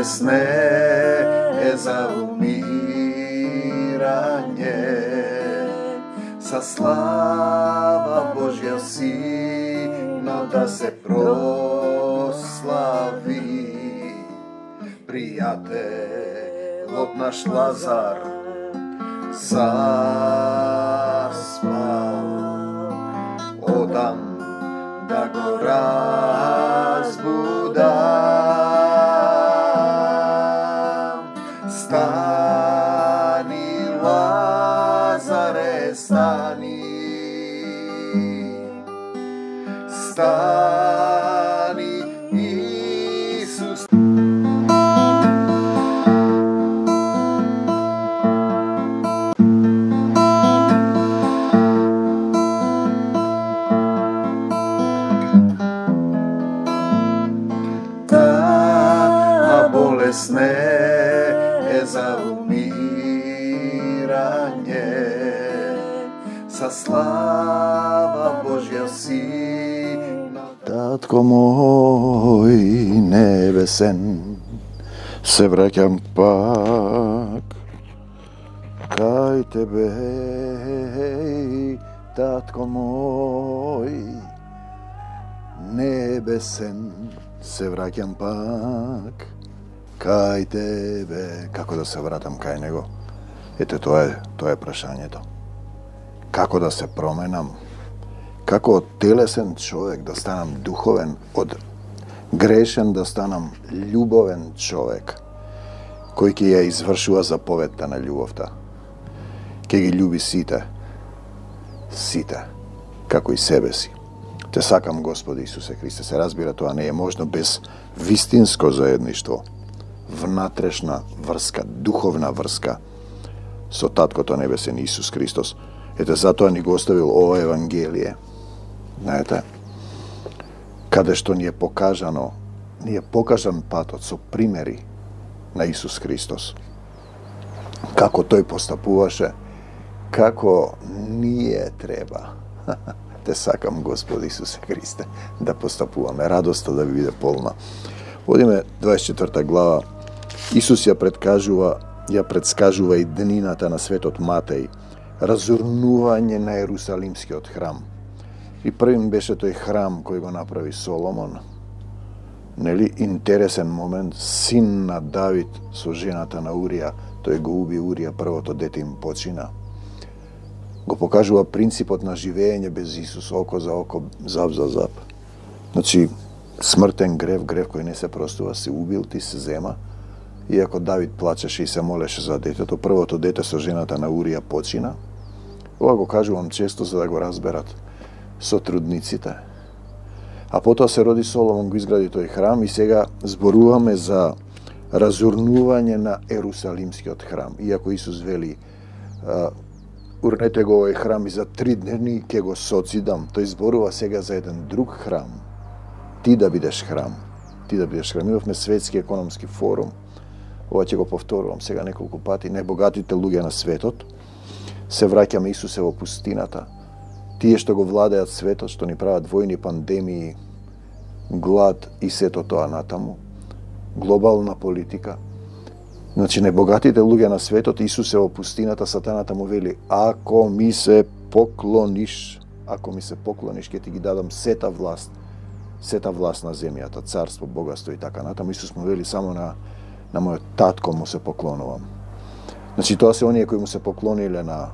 болесне е за умирање, sa слава Божја сино да се прослави. Пријателот наш Лазар заспал, одам да го разбудам. Стани, Лазаре, стани, стани, Исус. Таа болесне е за умирање, sa слава Божја сино. Татко мој небесен, се враќам пак кај тебе, татко мој небесен, се враќам пак кај тебе. Како да се вратам кај него? Ете, тоа е прашањето. Како да се променам? Како од телесен човек да станам духовен, од грешен да станам љубовен човек, кој ќе ја извршува заповедта на љубовта. Ќе ги љуби сите, како и себе си. Те сакам, Господи Исусе Христе. Се разбира, тоа не е можно без вистинско заедништво, внатрешна врска, духовна врска со Таткото Небесен Исус Христос. Ете, затоа ни го оставил ова Евангелие. Знаете, каде што ни е покажан патот со примери на Исус Христос. Како тој постапуваше, како ние треба. Те сакам, Господи Исусе Христе, да постапуваме. Радоста да ви биде полна. Одиме 24 глава. Исус ја предскажува и днината на светот Матеј, разурнување на Ерусалимскиот храм. И првим беше тој храм кој го направи Соломон. Нели, интересен момент, син на Давид со жената на Урија, тој го уби Урија, првото дете им почина. Го покажува принципот на живење без Исус, око за око, зап за зап. Значи, смртен грев кој не се простува, се убил, ти се зема. Иако Давид плачеше и се молеше за детето, првото дете со жената на Урија почина. Ова го кажувам често за да го разберат сотрудниците. А потоа се роди Соломон, го изгради тој храм и сега зборуваме за разурнување на Ерусалимскиот храм. Иако Исус вели, урнете го овој храм и за 3 дни ќе го социдам, тој зборува сега за еден друг храм. Ти да бидеш храм. Имавме светски економски форум. Ова ќе го повторувам сега неколку пати. Најбогатите луѓе на светот се враќаме Исусе во пустината. Тие што го владеат светот, што ни прават војни, пандемии, глад и сето тоа натаму, глобална политика. Значи, најбогатите луѓе на светот, Исусе во пустината, сатаната му вели, ако ми се поклониш, ќе ти ги дадам сета власт на земјата, царство, богатство и така натаму. Исус му вели, само на мојот татко му се поклонувам. Значи, тоа се оние кои му се поклониле на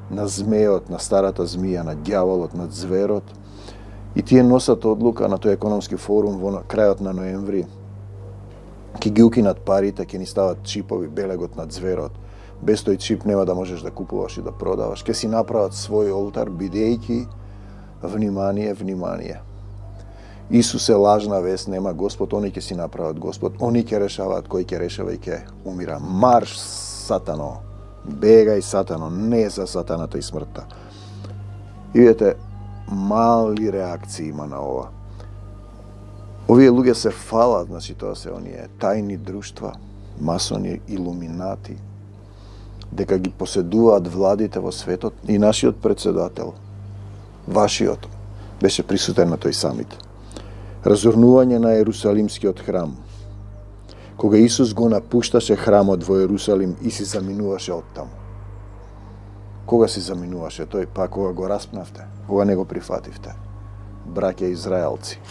змејот, на старата змија, на ѓаволот, на зверот. И тие носат одлука на тој економски форум во крајот на ноември. Ќе ги укинат парите, ќе ни стават чипови, белегот на зверот. Без тој чип нема да можеш да купуваш и да продаваш. Ќе си направат свој олтар, бидејќи, внимание. Исус е лажна вест, нема Господ, они ќе си направат Господ, они ќе решаваат кој ќе решава и ќе умира. Марш, сатано! Бегај, сатано! Не за сатаната и смртта. И видите, мали реакции има на ова. Овие луѓе се фалат, значи тоа се оние тајни друштва, масони, илуминати, дека ги поседуваат владите во светот и нашиот председател, вашиот, беше присутен на тој самит. Разурнување на Ерусалимскиот храм. Кога Исус го напушташе храмот во Ерусалим и си заминуваше оттаму. Кога си заминуваше тој? Па кога го распнавте, кога не го прифативте. Браќа Израелци.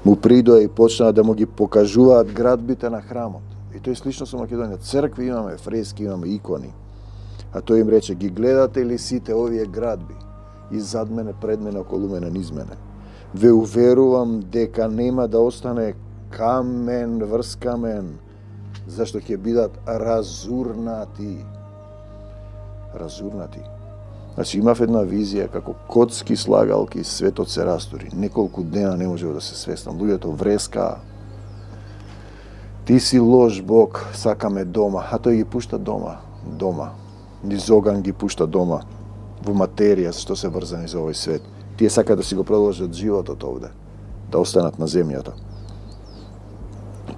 Му придоа и почнаа да му ги покажуваат градбите на храмот. И тој слично со Македонија. Цркви имаме, фрески имаме, икони. А тој им рече, ги гледате ли сите овие градби? И зад мене, пред мене, околу мене, низ мене. Ве уверувам дека нема да остане камен врз камен, зашто ќе бидат разурнати. Разурнати. Значи имав една визија како коцки слагалки, светот се растури. Неколку дена не можево да се свестам. Луѓето вреска. Ти си лош Бог, сакаме дома. А тој ги пушта дома. Дома. Низ оган ги пушта дома. Во материја, што се врзани за овој свет. Тие сакаат да си го продолжат животот овде. Да останат на земјата.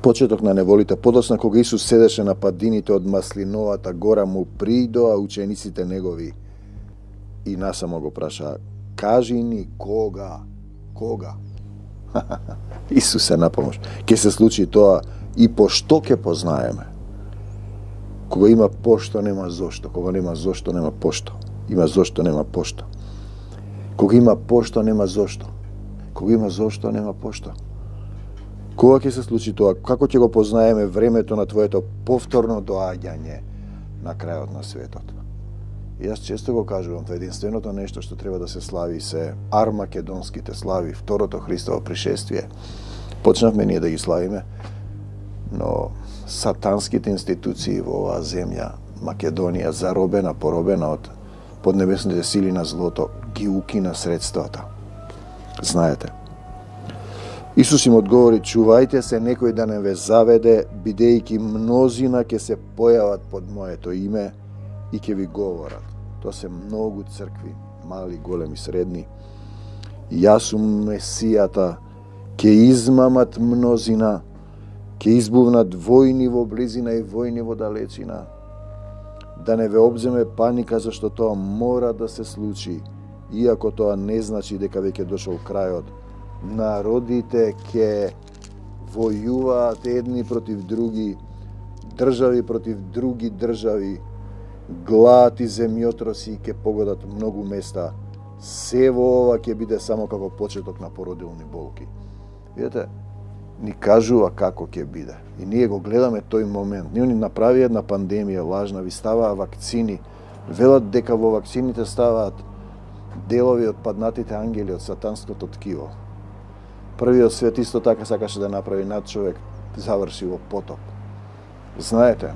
Почеток на неволите, подоцна кога Исус седеше на падините од Маслиновата гора, му придоа учениците негови и насамо го прашаа, кажи ни кога? Кога? Исус се напомош. Ке се случи тоа и по што ке познаеме? Кога има пошто, нема зошто. Кога нема зошто, нема пошто. Има зошто, нема пошто. Кога има пошто, нема зошто. Кога има зошто, нема пошто. Кога ќе се случи тоа? Како ќе го познаеме времето на твоето повторно доаѓање на крајот на светот? И јас често го кажувам, тоа единственото нешто што треба да се слави се армакедонските слави, второто Христово пришествие. Почнавме ние да ги славиме, но сатанските институции во оваа земја, Македонија, заробена, поробена од поднебесните сили на злото, ги укина средствата. Знаете. Исус им одговори, чувајте се некој да не ве заведе, бидејќи мнозина ќе се појават под моето име и ќе ви говорат. Тоа се многу цркви, мали, големи, средни. Јас сум Месијата, ќе измамат мнозина, ќе избувнат војни во близина и војни во далечина. Да не ве обземе паника, зашто тоа мора да се случи, иако тоа не значи дека веќе дошол крајот. Народите ќе војуваат едни против други, држави против други држави, глад и земјотроси ќе погодат многу места. Се во ова ќе биде само како почеток на породилни болки. Видете, ни кажува како ќе биде. И ние го гледаме тој момент. Ние ни направи една пандемија лажна, ви ставаа вакцини, велат дека во вакцините ставаат делови од паднатите ангели од сатанското ткиво. Првиот свет исто така сакаше да направи над човек, заврши во потоп. Знаете,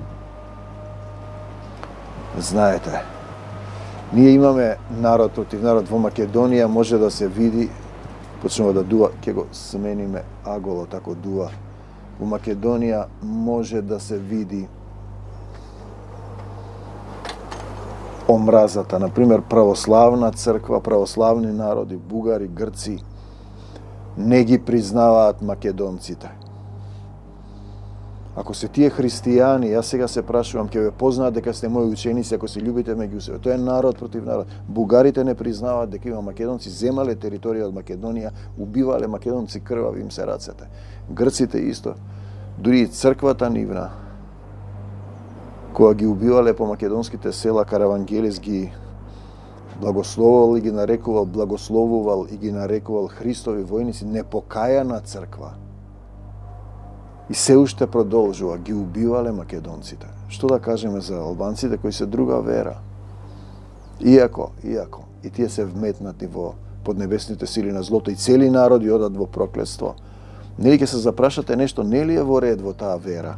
ние имаме народ против народ. Во Македонија може да се види, почнува да дува, ќе го смениме аголот ако дува. Во Македонија може да се види омразата. Например, православна црква, православни народи, бугари, грци, не ги признаваат македонците. Ако се тие христијани, јас сега се прашувам, ќе ве познаат дека сте мои ученици, ако се љубите меѓу себе. Тоа е народ против народ. Бугарите не признаваат дека има македонци, земале територија од Македонија, убивале македонци, крвави им се рацете. Грците исто. Дури и црквата нивна, кога ги убивале по македонските села, Каравангелис ги благословувал и ги нарекувал Христови војници, непокајана црква. И се уште продолжува, ги убивале македонците. Што да кажеме за албанците кои се друга вера? Иако, и тие се вметнати во поднебесните сили на злото и цели народи одат во проклетство. Нели ќе се запрашате нешто, нели е во ред во таа вера,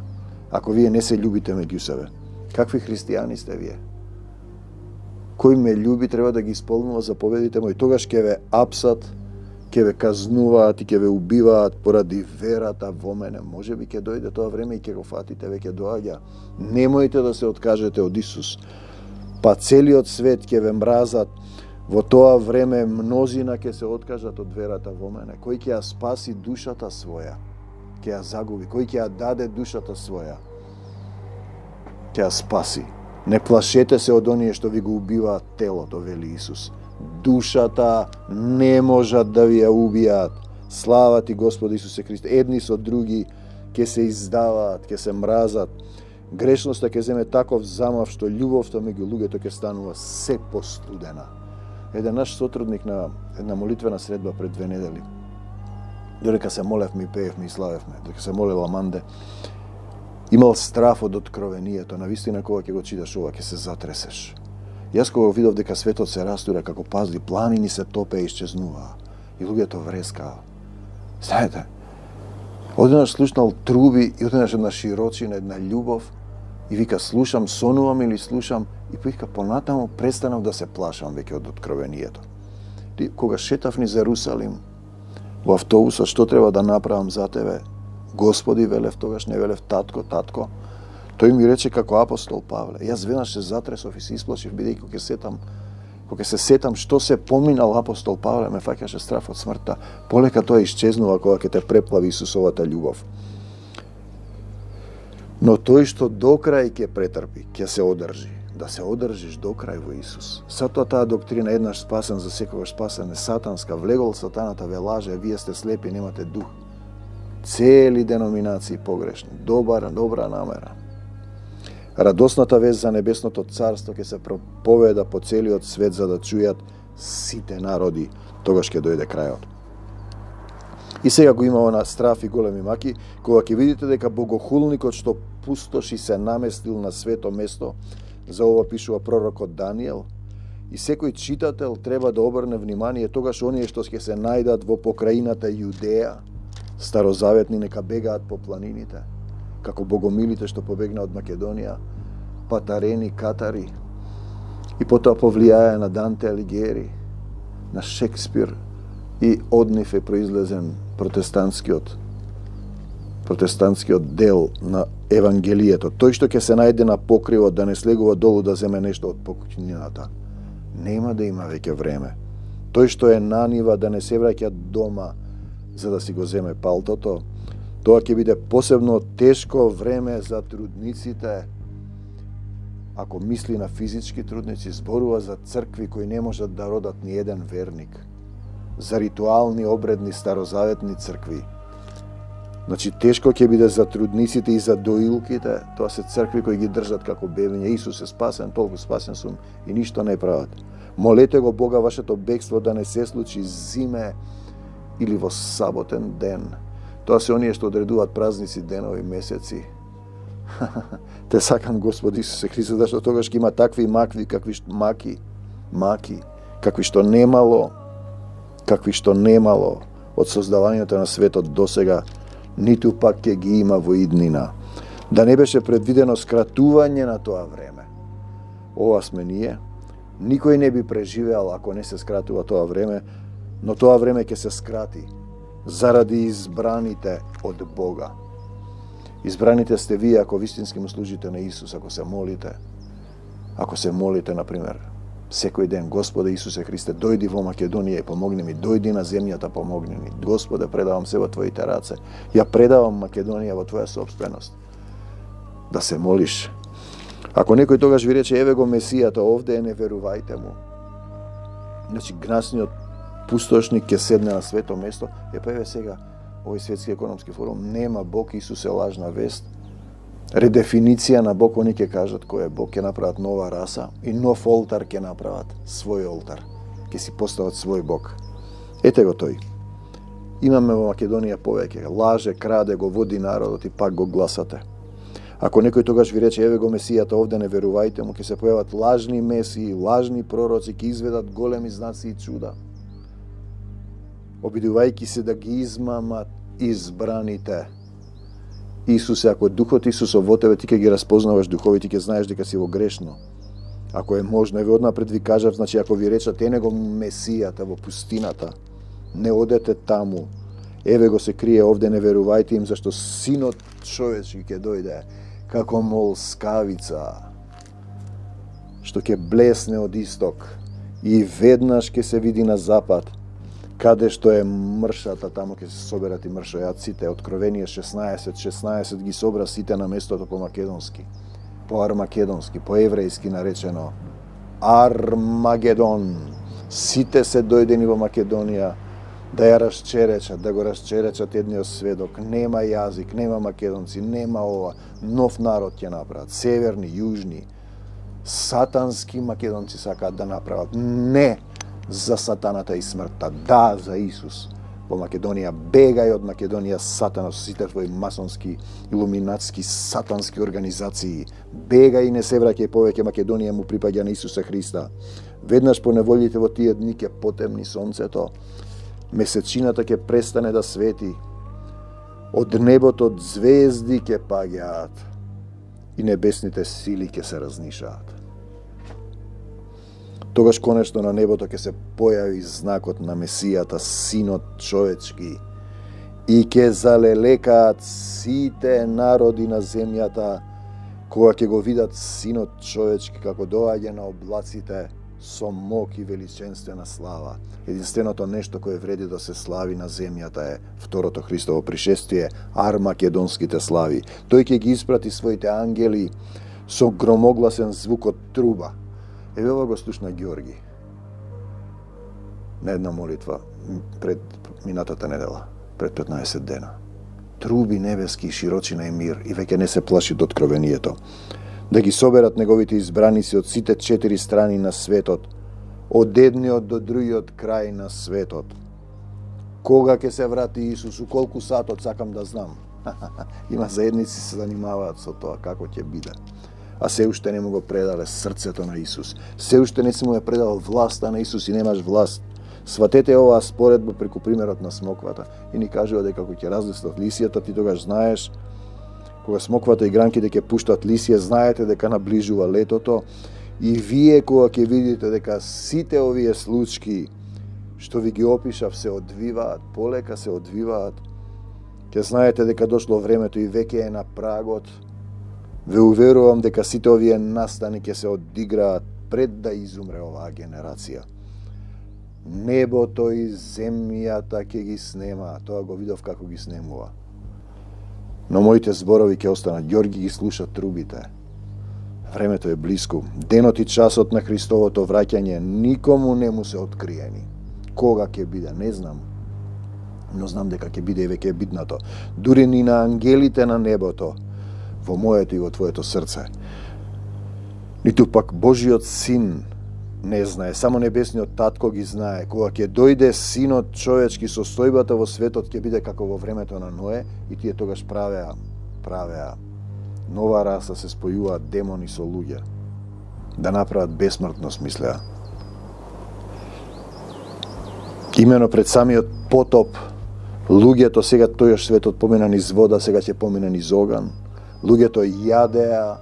ако вие не се љубите меѓу себе? Какви христијани сте вие? Кој ме љуби треба да ги исполнува заповедите мои, тогаш ќе ве апсат, ќе ве казнуваат и ќе ве убиваат поради верата во мене. Може би ќе дојде тоа време и ќе го фатите, веќе доаѓа. Немојте да се откажете од Исус. Па целиот свет ќе ве мразат. Во тоа време мнозина ќе се откажат од верата во мене. Кој ќе ја спаси душата своја, ќе ја загуби. Кој ќе ја даде душата своја, ќе ја спаси. Не плашете се од оние што ви го убиваат телото, вели Исус. Душата не можат да ви ја убијат. Слава ти, Господи Исусе Христе. Едни со други ќе се издаваат, ќе се мразат. Грешноста ќе земе таков замав што љубовта меѓу луѓето ќе станува се постудена. Еден наш сотрудник на една молитвена средба пред 2 недели, додека се молевме и пеевме и славевме, додека се молела Манде, имал страф од откровението. Навистина кога ќе го читаш ова, ќе се затресеш. Јас кога видов дека светот се растура како пазли, планини се топе и исчезнуваа. И луѓето врескаа. Знаете, одеднаш слушнал труби и одеднаш една широчина, една љубов и вика слушам, сонувам или слушам и вика понатаму престанав да се плашам веќе од откровението. Кога шетав низ Ерусалим во автобусот, што треба да направам за тебе? Господи, велев тогаш, не велев татко, татко. Тој ми рече како апостол Павле. Јас веднаш се затресов и се исплашив, бидејќи кога се сетам што се поминал апостол Павле, ме фаќаше страф од смртта. Полека тоа исчезнува кога ќе те преплави Исусовата љубов. Но тој што до крај ќе претрпи, ќе се одржи. Да се одржиш до крај во Исус. Затоа таа доктрина еднаш спасен за секогаш спасен е сатанска. Влегол сатаната ве лаже, вие сте слепи, немате дух. Цели деноминации погрешни. Добра намера. Радосната вест за небесното царство ќе се проповеда по целиот свет за да чујат сите народи. Тогаш ќе дојде крајот. И сега го има она страф и големи маки, кога ќе видите дека богохулникот што пустоши се наместил на свето место, за ова пишува пророкот Даниел, и секој читател треба да обрне внимание тогаш оние што ќе се најдат во покраината Јудеја, старозаветни нека бегаат по планините, како богомилите што побегна од Македонија, патарени, катари, и потоа повлијаја на Данте Алигиери, на Шекспир, и од нив е произлезен протестантскиот дел на Евангелието. Тој што ќе се најде на покривот да не слегува долу да земе нешто од покуќнината, нема да има веќе време. Тој што е на нива да не се враќа дома за да си го земе палтото, тоа ќе биде посебно тешко време за трудниците. Ако мисли на физички трудници, зборува за цркви кои не можат да родат ни еден верник, за ритуални, обредни, старозаветни цркви. Значи, тешко ќе биде за трудниците и за доилките. Тоа се цркви кои ги држат како бебиња. Исус е спасен, толку спасен сум и ништо не прават. Молете го Бога вашето бегство да не се случи зиме или во саботен ден. Тоа се оние што одредуваат празници, денови, месеци. Те сакам Господи Исусе Христос, зашто тогаш ќе има такви макви, какви што немало од создавањето на светот досега, ниту пак ќе ги има во иднина. Да не беше предвидено скратување на тоа време. Ова сме ние. Никој не би преживеал ако не се скратува тоа време, но тоа време ќе се скрати заради избраните од Бога. Избраните сте вие ако вистински му служите на Исус, ако се молите, например, секој ден, Господе Исусе Христе, дојди во Македонија и помогни ми, дојди на земјата, помогни ми. Господе, предавам се во Твоите раце. Ја предавам Македонија во Твоја собственост. Да се молиш. Ако некој тогаш ви рече, еве го Месијата, овде е, не верувајте му. Значи, гнасниот пустошник ќе седне на свето место. Па еве сега, овој светски економски форум, нема Бог, Исус е лажна вест. Редефиниција на Бог, они ќе кажат кој е Бог, ќе направат нова раса и нов олтар ќе направат, свој олтар. Ќе си постават свој Бог. Ете го тој. Имаме во Македонија повеќе. Лаже, краде, го води народот и пак го гласате. Ако некој тогаш ви рече, еве го Месијата, овде не верувајте му, ќе се појават лажни месии, лажни пророци, ќе изведат големи знаци и чуда. Обидувајќи се да ги измамат избраните. Исусе, ако Духот Исусов во тебе, ти ќе ги разпознаваш духови, ти ќе знаеш дека си во грешно. Ако е можно, еве однапред ви кажав, значи ако ви речат, е него Месијата во пустината, не одете таму. Еве го се крие овде, не верувајте им, зашто Синот човечки ќе дојде како молскавица, што ќе блесне од исток и веднаш ќе се види на запад, каде што е мршата, тамо ќе се соберат и мршојаците. Откровение 16 ги собра сите на местото по македонски, по армакедонски, по еврејски наречено Армагедон. Сите се дојдени во Македонија да ја расчеречат, да го расчеречат едниот сведок. Нема јазик, нема македонци, нема ова. Нов народ ќе направат. Северни, јужни, сатански македонци сакаат да направат. Не за сатаната и смртта, да за Исус. Во Македонија, бегај од Македонија, сатана, со сите твои масонски, илуминатски, сатански организации. Бегај и не се враќај повеќе, Македонија му припаѓа на Исуса Христа. Веднаш по неволите во тие дни ќе потемни сонцето, месечината ќе престане да свети, од небото звезди ќе паѓаат и небесните сили ќе се разнишаат. Тогаш конечно на небото ќе се појави знакот на Месијата, Синот човечки, и ќе залелекаат сите народи на земјата, кога ќе го видат Синот човечки како доаѓа на облаците со мок и величенствена слава. Единственото нешто кое вреди да се слави на земјата е второто Христово пришествие, армакедонските слави. Тој ќе ги испрати своите ангели со громогласен звук од труба. Еве ова го слушна Ѓорги на една молитва пред минатата недела, пред 15 дена. Труби небески, широчина и мир, и веќе не се плаши од откровението. Да ги соберат неговите избраници од сите 4 страни на светот, од едниот до другиот крај на светот. Кога ќе се врати Исус, у колку сатот, сакам да знам. Има заедници се занимаваат со тоа, како ќе биде. А се уште не му го предале срцето на Исус. Се уште не си му ја предал власта на Исус и немаш власт. Сватете оваа споредба преку примерот на смоквата и ни кажува дека кога ќе разлистат лисијата, ти тогаш знаеш, кога смоквата и гранките ќе пуштат лисија, знаете дека наближува летото, и вие кога ќе видите дека сите овие случаи што ви ги опишав се одвиваат, полека се одвиваат, ќе знаете дека дошло времето и веќе е на прагот. Ве уверувам дека сите овие настани ќе се одиграат пред да изумре оваа генерација. Небото и земјата ќе ги снема, тоа го видов како ги снемува. Но моите зборови ќе останат. Ѓорги ги слуша трубите. Времето е блиску. Денот и часот на Христовото враќање никому не му се откриени. Кога ќе биде, не знам. Но знам дека ќе биде и веќе е биднато. Дури ни на ангелите на небото, во моето и во твоето срце. Ниту пак Божиот Син не знае, само небесниот Татко ги знае. Кога ќе дојде Синот човечки, состојбата во светот ќе биде како во времето на Ное, и тие тогаш правеа нова раса, се спојуваат демони со луѓе, да направат бесмртност, мислеа. Имено пред самиот потоп, луѓето сега тојаш светот помина низ вода, сега ќе помина низ оган. Луѓето јадеа,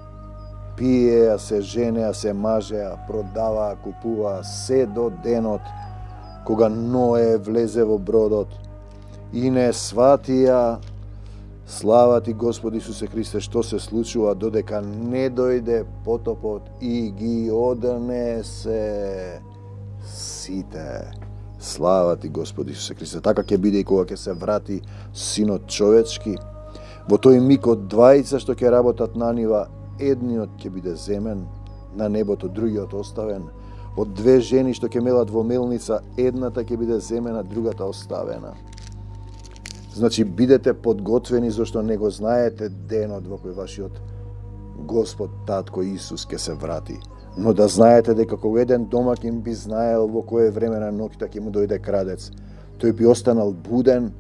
пиеа, се женеа, се мажеа, продаваа, купуваа, се до денот кога Ное влезе во бродот и не сватија, слава ти Господи Исусе Христе, што се случува додека не дојде потопот и ги однесе сите. Слава ти Господи Исусе Христе. Така ќе биде и кога ќе се врати Синот човечки. Во тој миг од двајца што ќе работат на нива, едниот ќе биде земен, на небото другиот оставен. Од две жени што ќе мелат во мелница, едната ќе биде земена, другата оставена. Значи, бидете подготвени, зашто не го знаете денот во кој вашиот Господ Татко Исус ќе се врати. Но да знаете дека кога еден домакин би знаел во кое време на ноќта ќе му дојде крадец, тој би останал буден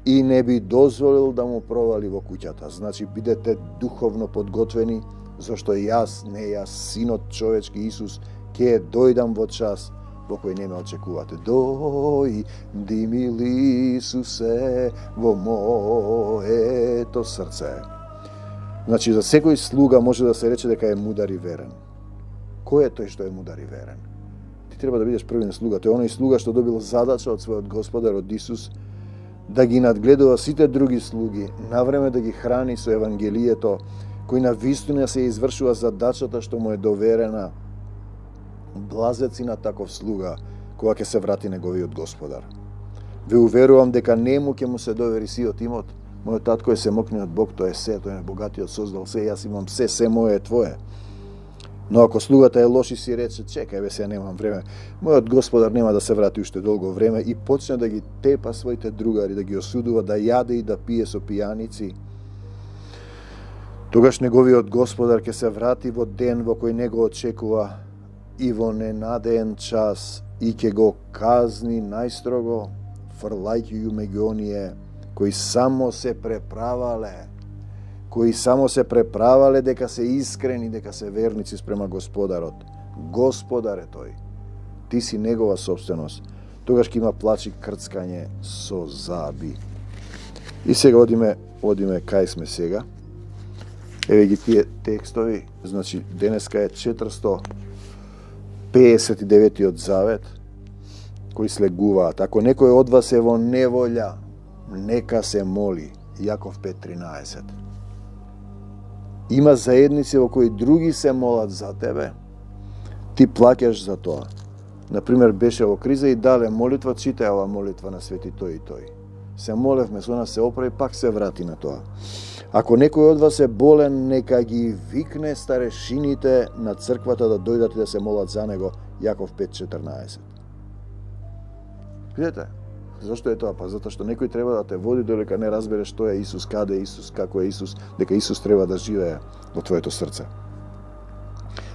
и не би дозволил да му провали во куќата. Значи, бидете духовно подготвени, зашто јас, не јас, Синот човечки Исус, ќе дојдам во час во кој не ме очекувате. Дојди, мили Исусе, во моето срце. Значи, за секој слуга може да се рече дека е мудар и верен. Кој е тој што е мудар и верен? Ти треба да бидеш првен слуга. Тој е оној слуга што добил задача од својот Господар, од Исус, да ги надгледува сите други слуги, навреме да ги храни со Евангелието, кој на вистина се извршува задачата што му е доверена. Блазеци на таков слуга, кога ќе се врати неговиот Господар. Ве уверувам дека нему ќе му се довери сиот имот. Мојот татко е семокниот Бог, тој е се, тој е богатиот, создал се, јас имам се мое е твое. Но ако слугата е лош и си рече, чекај бе, сега немам време, мојот господар нема да се врати уште долго време, и почне да ги тепа своите другари, да ги осудува, да јаде и да пие со пијаници, тогаш неговиот господар ќе се врати во ден во кој не го очекува и во ненадеен час и ќе го казни најстрого, фрлајќи ги меѓу оние кои само се преправале дека се искрени, дека се верници спрема Господарот. Господар е тој. Ти си негова собственост. Тогаш ќе има плач и крцкање со заби. И сега одиме кај сме сега. Еве ги тие текстови, значи денеска е 459-тиот завет, кои слегуваат. Ако некој од вас е во неволја, нека се моли. Јаков 5.13. Има заедници во кои други се молат за тебе, ти плаќаш за тоа. Например, беше во криза и дале молитва, читај ова молитва на свети тој и тој. Се молевме, со нас се оправи, пак се врати на тоа. Ако некој од вас е болен, нека ги викне старешините на црквата да дојдат и да се молат за него. Јаков 5.14. Видете? Зошто е тоа? Па затоа што некој треба да те води додека не разбере што е Исус, каде е Исус, како е Исус, дека Исус треба да живее во твоето срце.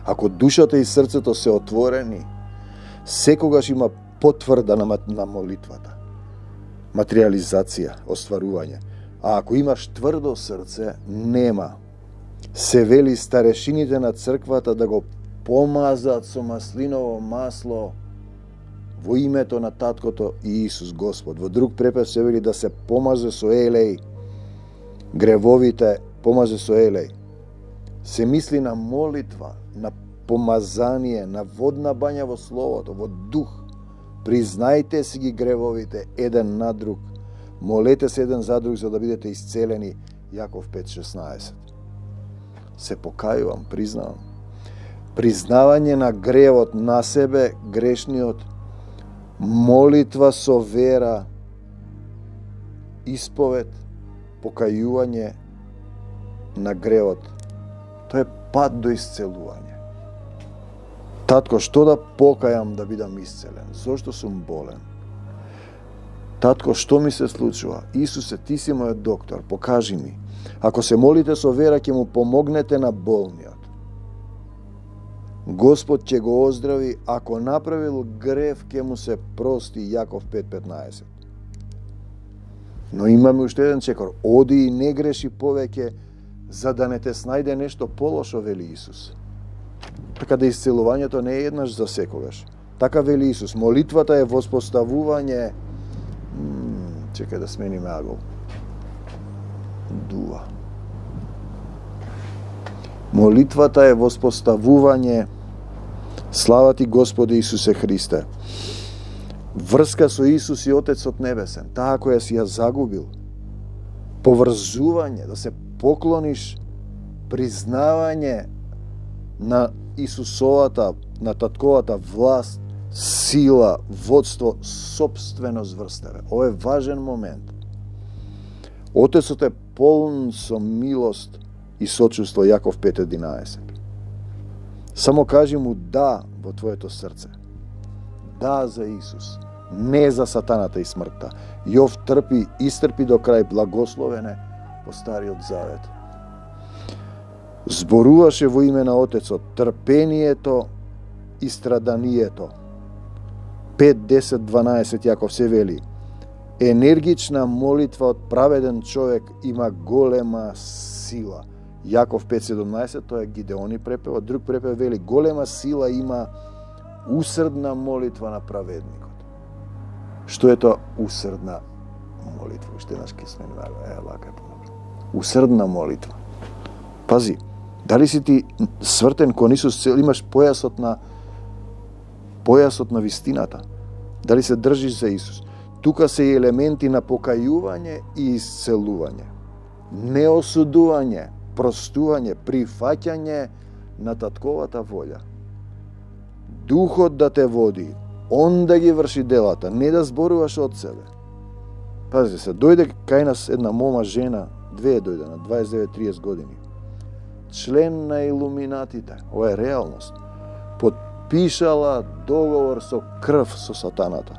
Ако душата и срцето се отворени, секогаш има потврда на молитвата. Материализација, остварување. А ако имаш тврдо срце, нема. Се вели старешините на црквата да го помазат со маслиново масло во името на Таткото и Исус Господ. Во друг препев се вели да се помазе со елеј, гревовите помазе со елеј. Се мисли на молитва, на помазание, на водна бања во Словото, во дух. Признајте си ги гревовите еден на друг. Молете се еден за друг за да бидете исцелени. Јаков 5.16. Се покајувам, признавам. Признавање на гревот на себе, грешниот, молитва со вера, исповед, покајување на гревот. Тоа е пат до исцелување. Татко, што да покајам да бидам исцелен? Зошто сум болен? Татко, што ми се случува? Исусе, ти си мојот доктор, покажи ми. Ако се молите со вера, ќе му помогнете на болниот. Господ ќе го оздрави, ако направил грев, ќе му се прости. Јаков 5.15. Но имаме уште еден чекор. Оди и не греши повеќе, за да не те снајде нешто полошо, вели Исус. Така да исцелувањето не е еднаш за секогаш. Така вели Исус. Молитвата е воспоставување. Чекај да смениме агол. Дува. Молитвата е воспоставување. Слава ти, Господи Исусе Христе. Врска со Исус и Отецот Небесен, таа која си ја загубил. Поврзување, да се поклониш, признавање на Исусовата, на татковата власт, сила, водство, собственост врз тебе. Ова е важен момент. Отецот е полн со милост и сочувство. Јаков 5.11. Само кажи му да во твоето срце. Да за Исус, не за сатаната и смртта. Јов трпи, истрпи до крај, благословене по Стариот Завет. Зборуваше во име на Отецот трпението и страданието. 5, 10, 12 Јаков се вели: енергична молитва од праведен човек има голема сила. Јаков 5.17, тоа е Гидеони препев, од друг препев вели: голема сила има усрдна молитва на праведникот. Што е тоа усрдна молитва? Уште еднаш ке сме лака е подобро. Усрдна молитва. Пази, дали си ти свртен кон Исус, имаш појасот на вистината? Дали се држиш за Исус? Тука се и елементи на покајување и исцелување. Неосудување, простување, прифаќање на татковата волја. Духот да те води, он да ги врши делата, не да зборуваш од себе. Пазите се, дојде кај нас една мома жена, две дојде на 29-30 години. член на илуминатите, ова е реалност, подпишала договор со крв со сатаната.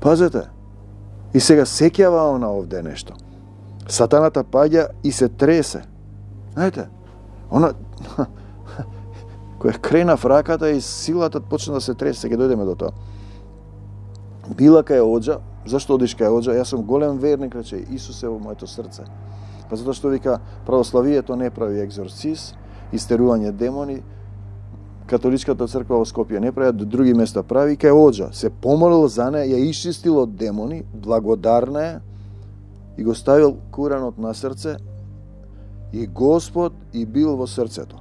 Пазете, и сега сеќава она овде нешто. Сатаната паѓа и се тресе. Знаете, она која крена в раката и силата почна да се тресе, ќе дојдеме до тоа. Била кај оџа, зашто одиш кај оџа? Јас сум голем верник, рече, Исус е во моето срце. Па затоа што вика, православието не прави екзорциз, истерување демони, католичката црква во Скопје не прави, до други места прави, кај оџа. Се помолил за неја, ја исчистил од демони, благодарна е, и го ставил куранот на срце, и Господ и бил во срцето.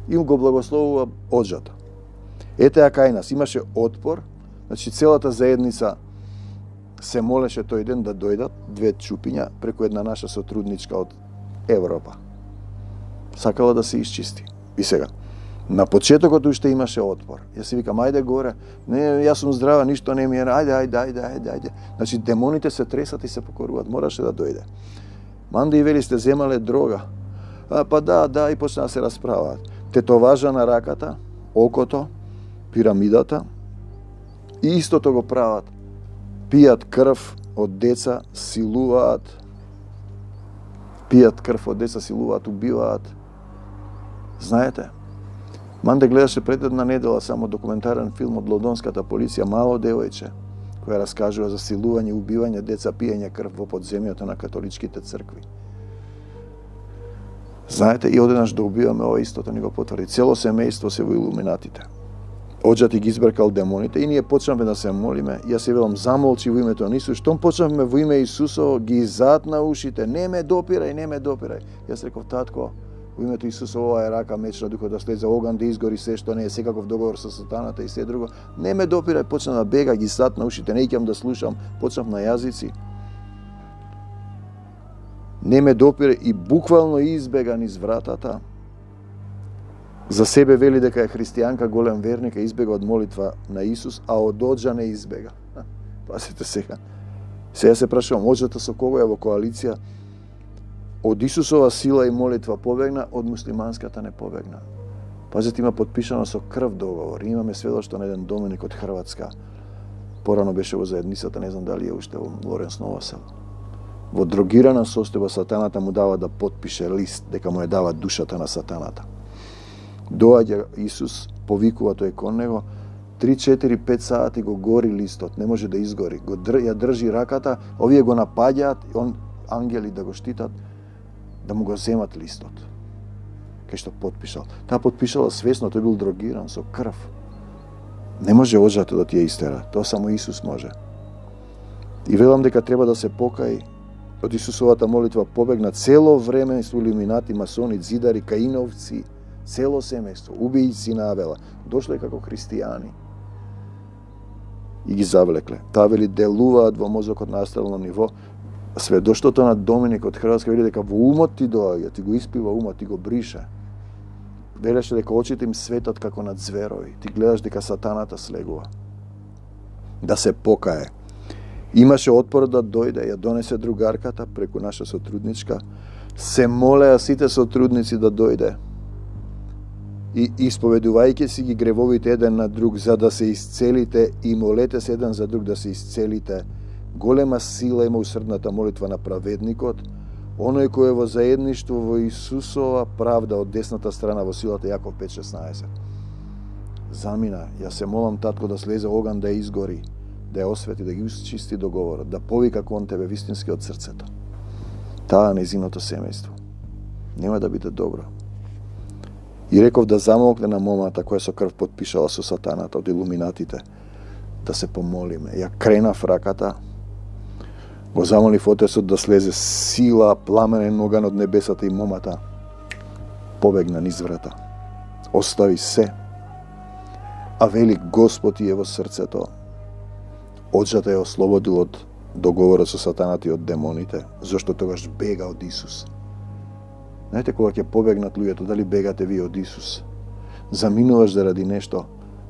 И го благословува оџата. Ете ја кај нас, имаше отпор, значи целата заедница се молеше тој ден да дојдат две чупиња преку една наша сотрудничка од Европа. Сакала да се исчисти. И сега, на почетокот уште имаше отпор. Јас си викам, ајде горе, не, јас сум здрава, ништо не ми е, ајде. Значи, демоните се тресат и се покоруваат, мораше да дојде. Манде и вели сте земале дрога. Па да, и почна да се расправаат. Тетоважа на раката, окото, пирамидата, и истото го прават. Пијат крв од деца, силуваат. Убиваат. Знаете, Манде гледаше пред една недела само документарен филм од лондонската полиција, мало девојче, која раскажува за силување, убивање деца, пиење крв во подземјето на католичките цркви. Знаете, и одеднаш да убиваме, ова истото ни го потврди. Цело семејство се во илуминатите. Оџати ги избркал демоните и ние почнавме да се молиме. Јас се велам, замолчи во името на Исус. Штом почнавме во име Исусово, ги затна ушите. Не ме допирај. Јас реков, татко, во името Исусово, ова е рака, меч на духот да слезе, оган да изгори се што не е, секаков договор со сатаната и се друго. Не ме допирај, почна да бега, ги затна ушите, не икам да слушам, почнав на јазици. Не ме допирај и буквално избега низ вратата. За себе вели дека е христијанка, голем верник, избега од молитва на Исус, а од оџа не избега. Пасите сега. Сега се прашувам, оџата со кого е во коалиција? Од Исусова сила и молитва побегна, од муслиманската не побегна. Пазете, има подпишано со крв договор. Имаме сведоштво на еден доменик од Хрватска. Порано беше во заедницата, не знам дали е уште во Лоренс Новосел. Во дрогирана состојба сатаната му дава да подпише лист, дека му ја дава душата на сатаната. Доаѓа Исус, повикува тој кон него, 3-4-5 сати го гори листот, не може да изгори. Ја држи раката, овие го напаѓаат, ангели да го штитат, да му го земат листот. Кај што подпишал. Таа подпишала свесно, тој бил дрогиран со крв. Не може оџата да ти ја истера, тоа само Исус може. И велам дека треба да се покаи. Од Исусовата молитва побегна цело време со илуминати, масони, дзидари, каиновци, цело семејство, убијци на Авела, дошле како христијани и ги завлекле. Таа вели делуваат во мозокот на астрално ниво. Сведоштвото на Доминик од Хрватска вели дека во умот ти доаѓа, ти го испива умот, ти го брише. Велеше дека очите им светат како на зверови. Ти гледаш дека сатаната слегува. Да се покае. Имаше отпор да дојде, ја донесе другарката преку наша сотрудничка. Се молеа сите сотрудници да дојде. И исповедувајќи си ги гревовите еден на друг за да се исцелите и молете се еден за друг да се исцелите. Голема сила има усрдната молитва на праведникот, оној кој е во заедништво во Исусова правда од десната страна во силата Јаков 5:16. Замина, ја се молам татко да слезе оган да ја изгори, да ја освети, да ги исчисти договорот, да повика кон тебе вистински од срцето. Таа нејзиното семејство. Нема да биде добро. И реков да замолкне на момата која со крв подпишала со сатаната од илуминатите, да се помолиме. Ја кренав раката, го замолив Отецот да слезе сила, пламенен оган од небесата и момата побегна низ врата. Остави се, а вели Господ е во срцето. Оџата ја ослободил од договорот со сатаната и од демоните, зашто тогаш бега од Исус. Знаете, кога ќе побегнат луѓето, дали бегате ви од Исус? Заминуваш заради нешто,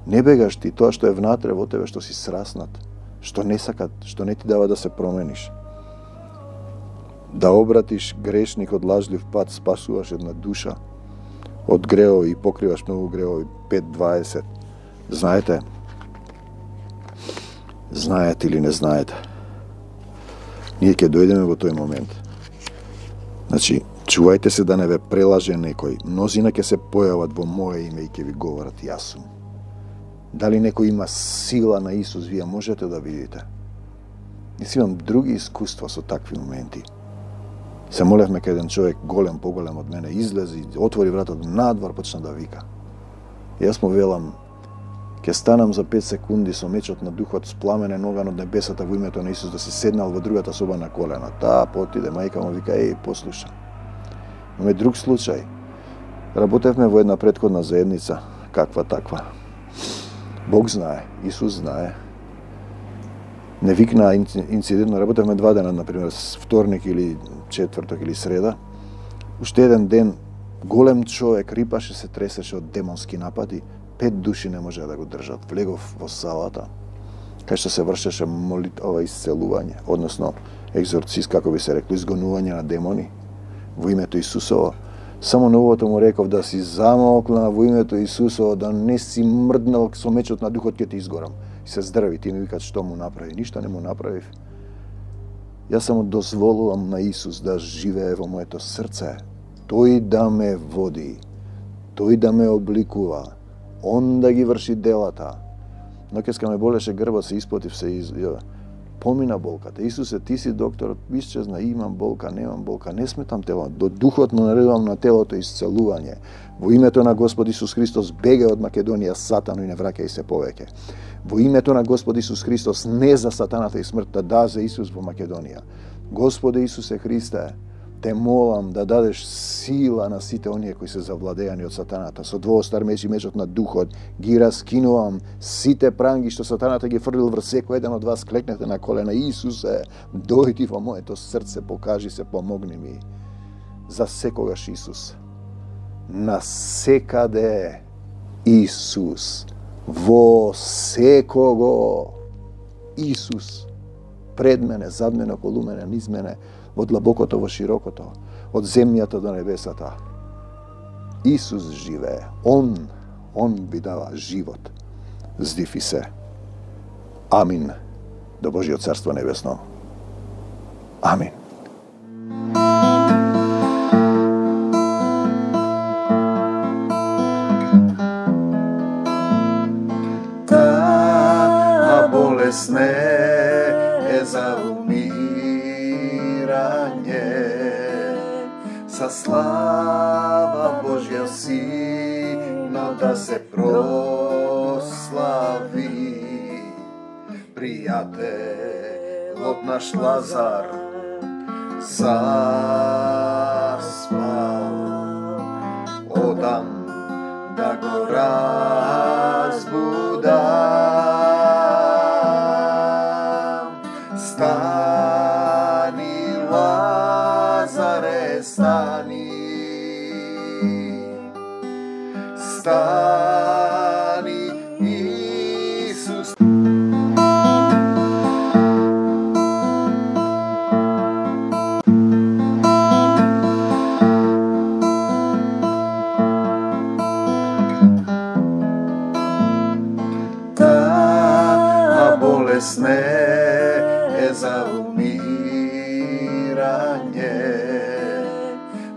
не бегаш ти, тоа што е внатре во тебе, што си сраснат, што не сакат, што не ти дава да се промениш. да обратиш грешник од лажлив пат, спасуваш една душа од греови и покриваш многу греови. 5:20. Знаете или не знаете? Ние ќе дојдеме во тој момент. Значи, чувајте се да не ве прелаже некој. Мнозина ќе се појават во моје име и ќе ви говорат јас сум. Дали некој има сила на Исус, вие можете да видите. Јас имам други искуства со такви моменти. Се молевме кај еден човек голем, поголем од мене, излезе, отвори вратот надвор, почна да вика. Јас му велам, ќе станам за 5 секунди со мечот на духот, спламенен оган од небесата во името на Исус, да се седнал во другата соба на колена. Таа потиде, мајка му вика, послуша. Имаме друг случај. Работевме во една претходна заедница, каква таква. Бог знае, Исус знае. Не викна инцидентно, работевме 2 дена, например, вторник или четврток или среда. Уште еден ден, голем човек, рипаше се, тресеше од демонски напади, 5 души не можеа да го држат. Влегов во салата, кај што се вршеше исцелување, односно екзорцист, како би се рекло, изгонување на демони во името Исусово. Само новото му реков да си замолкна во името Исусово, да не си мрднал со мечот на духот, ќе ти изгорам. И се здрави, ти ми викат што му направи. Ништо не му направив. Јас само дозволувам на Исус да живее во моето срце. Тој да ме води, тој да ме обликува, он да ги врши делата. Ноќеска ме болеше грбот, се испотив, помина болката. Исусе, ти си докторот, исчезна, имам болка, немам болка, не сметам тело. До духот му наредувам на телото исцелување. Во името на Господ Исус Христос, бегај од Македонија, Сатано, и не враќај се повеќе. Во името на Господ Исус Христос, не за сатаната и смртта, да за Исус во Македонија. Господе Исусе Христе, те молам да дадеш сила на сите оние кои се завладеани од сатаната. Со двоостар меч и мечот на духот ги раскинувам сите пранги што сатаната ги фрлил врз секој еден од вас. Клекнете на колена. Исусе, дојди во моето срце, покажи се, помогни ми. За секогаш Исус. На секаде Исус. Во секого Исус. Пред мене, зад мене, околу мене, низ мене, од длабокото во широкото, од земјата до небесата. Исус живее. Он ви дава живот. Здифи се. Амин. До Божиот царство небесно. Амин. Таа болест не е за со слава Божја Сина да се прослави. Пријателот наш Лазар заспал, одам да го разбудам. Стани, Лазаре, стани, стани, Исус. Таа болест не е за умирање,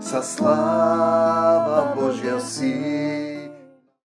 со слава